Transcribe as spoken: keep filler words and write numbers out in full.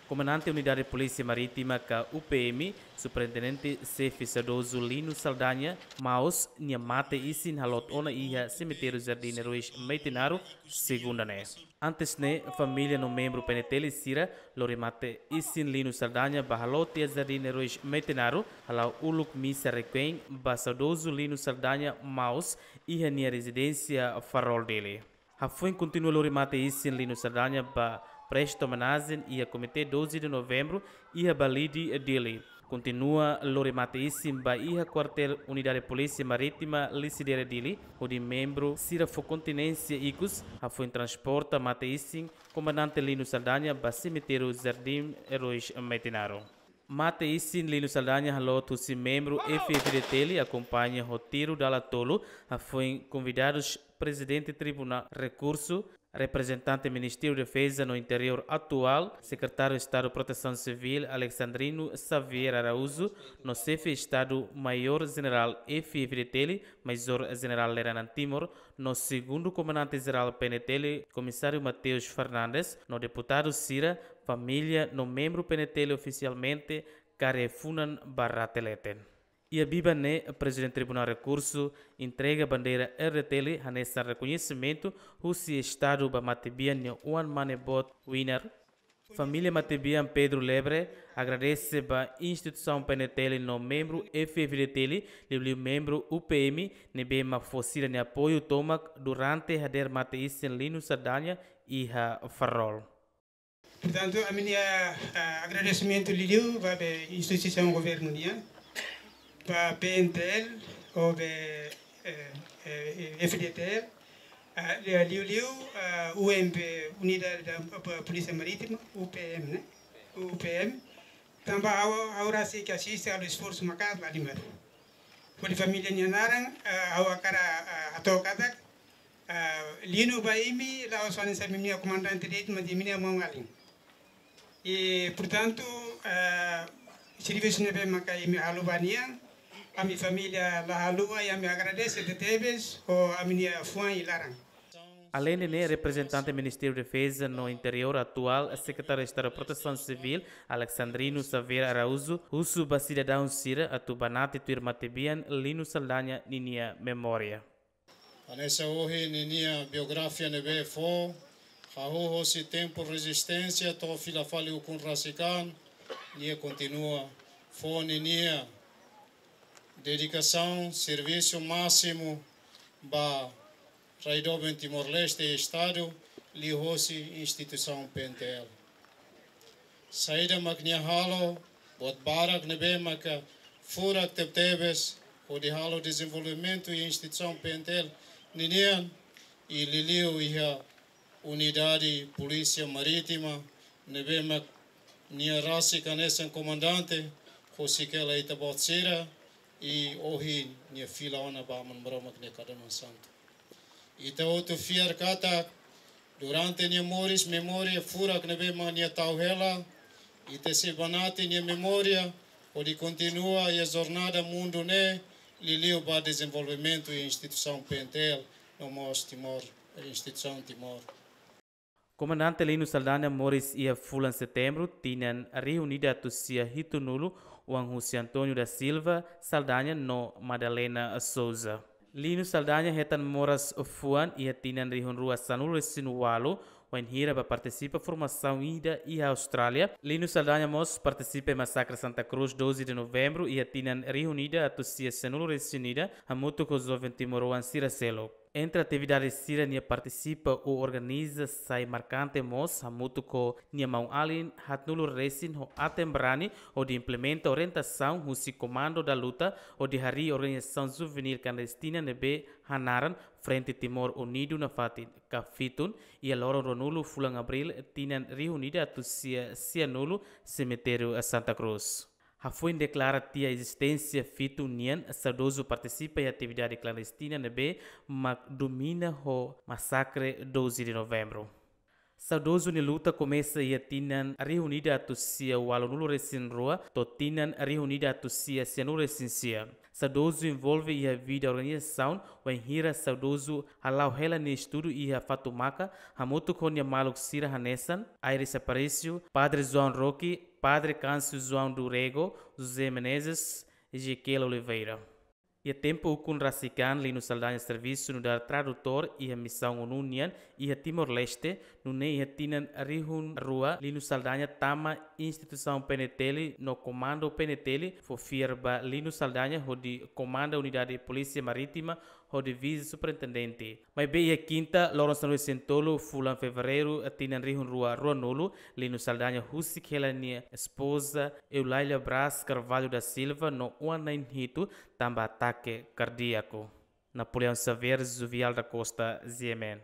Komandante Unidade Polísia Marítima ka U P M, Superintendente Xefe saudozu Lino Saldanha, mós nia mate-isin halot ona iha Semitériu Jardín Heróis Metinaro, segunda ne'e. Antes ne'e, família no membru P N T L sira lori mate-isin Lino Saldanha ba halot iha Jardín Heróis Metinaro, hala'o uluk misa requiem ba saudozu Lino Saldanha mós iha nia rezidénsia Farol, Dili. Hafoin kontinua lori mate-isin Lino Saldanha ba presta omenajen iha Komité doze de Novembro iha Balide, Dili. Kontinua lori mate-isin ba iha kuartél Unidade Polísia Marítima Lisidere, Dili, hodi membru sira fó kontinénsia ikus, hafoin transporta mate-isin Komandante Lino Saldanha ba Semitériu Jardín Heróis Metinaro. Mate-isin Lino Saldanha halot husi membru F F D T L akompaña ho tiru dala tolu, hafoin konvidadus Prezidente Tribunál Rekursu, reprezentante Ministériu Defeza no Interiór atuál, Sekretáriu Estadu Protesaun Sivíl Alexandrino Xavier Araújo, no Xefe Estadu Maiór Jenerál F F D T L, Majór Jenerál Leranan Timor, no Segundu Komandante Jerál P N T L, Komisáriu Mateus Fernandes, no deputadu sira, família no membru P N T L ofisialmente kaer funan ba rate leten. Iha biban ne'e, Prezidente Tribunál Rekursu entrega bandeira R D T L hanesan rekoñesimentu husi Estadu ba matebian nia oan mane boot Wiener. Família matebian Pedro Lebre agradese ba instituisaun P N T L no membru F F D T L, liuliu membru U P M, ne'ebé mak fó sira-nia apoiu tomak durante hadeer mate-isin Lino Saldanha iha Farol. Portantu, ami-nia, ah, agradesimentu liuliu ba be instituisaun governu nian, ba P N T L, ho be, eh, eh, F D T L, ah, li-, liuliu, ah, U M P, Unidade da, ba, Polísia Marítima, U P M, ne'e? U P M. Tanba ha'u, ha'u rasik asiste halo esforsu maka'as la limar. Hodi família nia naran, ah, ha'u hakarak, ah, hato'o katak, ah, Lino ba imi la'ós hanesan imi-nia komandante de'it, mas imi-nia maun-alin. I, portantu, ah, servisu ne'ebé maka imi halo ba nia, ami família la haluha, i ami agradese tebetebes ho ami-nia fuan i laran. Aleinde ne'e, reprezentante Ministériu Defeza no Interiór atuál, Sekretáriu Estadu Protesaun Sivíl, Alexandrino Xavier Araújo, husu ba sidadaun sira atu banati tuir matebian Lino Saldanha ninia memória. Hanesan ohin ninia biografia ne'ebé fó, hahú hosi tempu rezisténsia to'o fila fali ukun rasik an, nia kontinua fó ninia dedikasaun, servisu másimu ba rai doben Timor-Leste i Estadu, liuhosi instituisaun P N T L. Saida mak nia halo, buat barak ne'ebé maka furak tebetebes, hodi halo dezenvolvimentu iha instituisaun P N T L ninian, i liuliu iha Unidade Polísia Marítima, ne'ebé mak nia rasik hanesan komandante, husik hela ita-boot sira, i ohin nia fila ona ba Aman Maromak nia kadaman santu. Ita hotu fiar katak, durante nia moris, memória furak ne'ebé mak nia tau hela, ita sei banati nia memória, hodi kontinua iha jornada mundu ne'e, liuliu ba dezenvolvimentu iha instituisaun P N T L, no mós Timor, instituisaun Timor. Komandante Lino Saldanha moris iha fulan Setembru, tinan rihun ida atus sia hitunulu, oan husi António da Silva Saldanha no Madalena Souza. Lino Saldanha hetan moras fuan iha tinan rihun rua sanulu-resin-ualu, wainhira bá partisipa formasaun ida iha Austrália. Lino Saldanha mós partisipa iha masakre Santa Cruz, doze de Novembro, iha tinan rihun ida atus sia sanulu-resin-ida, hamutuk ho joven timoroan sira seluk. Entre atividade sira-nia partisipa ou organiza sai markante mós, hamutuk ho nia maun-alin haatnulu resin ho aten-barani, hodi implementa orientasaun husi Comando da Luta, hodi harii organizasaun juvenil klandestina ne'ebé hanaran Frente Timor Unidu nafatin, KFITUN, iha loron ruanulu fulan Abríl, tinan rihun ida atus sia sianulu, semitériu Santa Cruz. Hafoin deklara tiha ezisténsia FITUN nian, saudozu partisipa iha atividade klandestina ne'ebé mak domina ho masakre doze de Novembro. Saudozu nia luta komesa iha tinan rihun ida atus sia ualunulu resin rua to'o tinan rihun ida atus sia sianulu resin sia. Saudozu envolve iha vida organizasaun wainhira saudozu hala'o hela nia estudu iha Fatumaka, hamutuk ho nia maluk sira hanesan Aires Aparício, Padre João Roque, Padre Câncio João do Rego, José Menezes, Ezequiel Oliveira. Iha tempu ukun rasik an, Lino Saldanha servisu nu'udar tradutór iha misaun ONU nian iha Timor-Leste, nune'e iha tinan rihun rua Lino Saldanha tama instituisaun P N T L no komandu P N T L fó fiar ba Lino Saldanha hodi komanda Unidade Polísia Marítima hodi vise-superintendente. Maibé iha kinta, loron sanulu-resin-tolu fulan Fevereiru tinan rihun rua ruanulu, Lino Saldanha husik hela nia espoza Eulália Braz Carvalho da Silva no oan na'in hitu tanba atake kardíaku. Napoleão Xavier, Juvial da Costa, G M N.